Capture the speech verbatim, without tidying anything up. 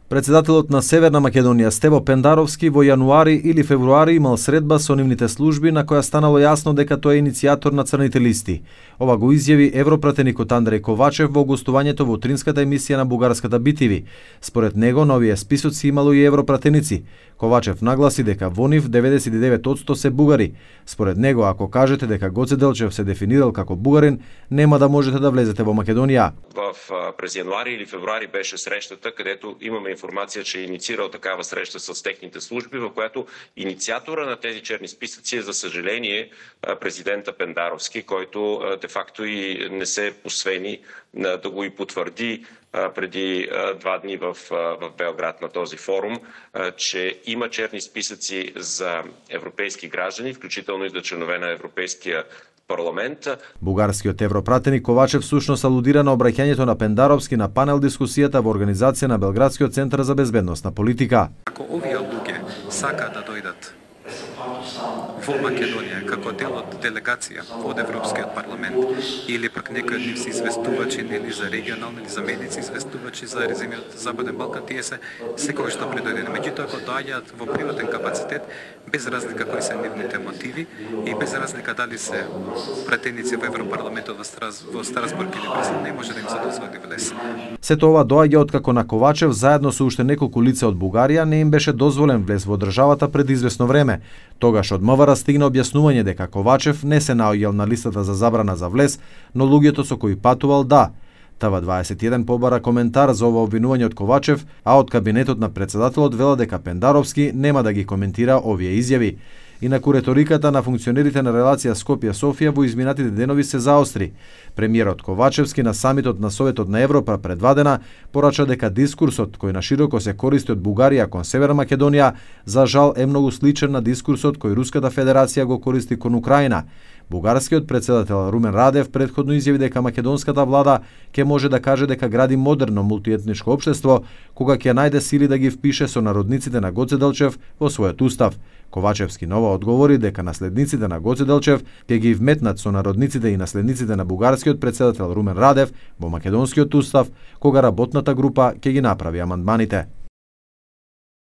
Председателот на Северна Македонија Стево Пендаровски во јануари или февруари имал средба со нивните служби на која станало јасно дека тој е иницијатор на црните листи. Ова го изјави европратеникот Андреј Ковачев во гостувањето во утринската емисија на бугарската би ти ви. Според него на овие списоци имало и европратеници. Ковачев нагласи дека во нив деветдесет и девет одсто се бугари. Според него, ако кажете дека Гоце Делчев се дефинирал како бугарин, нема да можете да влезете во Македонија. В през јануари или февруари беше срещата, кадето имаме информација, че е инициирал такава среща с техните служби, во която иницијатора на тези черни списъци е, за съжаление, президента Пендаровски, който де-факто и не се посвени да го и потвърди преди два дни в, в Белград на този форум, че има черни списъци за европейски граждани, включително и за членове на Европейския парламент. Бугарскиот европратеник Ковачев всушност алудира на обраќањето на Пендаровски на панел дискусијата во организација на Белградскиот центар за безбедносна политика. Ако овие луѓе сака да дојдат во Македонија како дел од делегација од Европскиот парламент или пак некој од нив се известувачи или за регионални или за медици известувачи за резимиот Западен Балкан, тие се секогаш што предојдени. Меѓутоа, ако доаѓаат во приватен капацитет, без разлика кои се нивните мотиви и без разлика дали се пратеници во Европарламентот во, Страс, во Страсбург или Брюксел, не може да им се дозволи влез. Сето ова доаѓа откако на Ковачев заедно со уште неколку лица од Бугарија не им беше дозволен влез во државата пред известно време. Тогаш од МВР стигна објаснување дека Ковачев не се наоѓал на листата за забрана за влез, но луѓето со кои патувал да. ТВ дваесет и еден побара коментар за ова обвинување од Ковачев, а од кабинетот на председателот вела дека Пендаровски нема да ги коментира овие изјави. Инаку реториката на функционерите на релација Скопје-Софија во изминатите денови се заостри. Премиерот Ковачевски на самитот на Советот на Европа пред два дена порача дека дискурсот кој на широко се користи од Бугарија кон Северна Македонија за жал е многу сличен на дискурсот кој Руската Федерација го користи кон Украина. Бугарскиот председател Румен Радев претходно изјави дека македонската влада ќе може да каже дека гради модерно мултиетничко општество кога ќе најде сили да ги впише со народниците на Гоце Делчев во својот устав. Ковачевски нова одговори дека наследниците на Гоце Делчев ќе ги вметнат со народниците и наследниците на бугарскиот председател Румен Радев во македонскиот устав кога работната група ќе ги направи амандманите.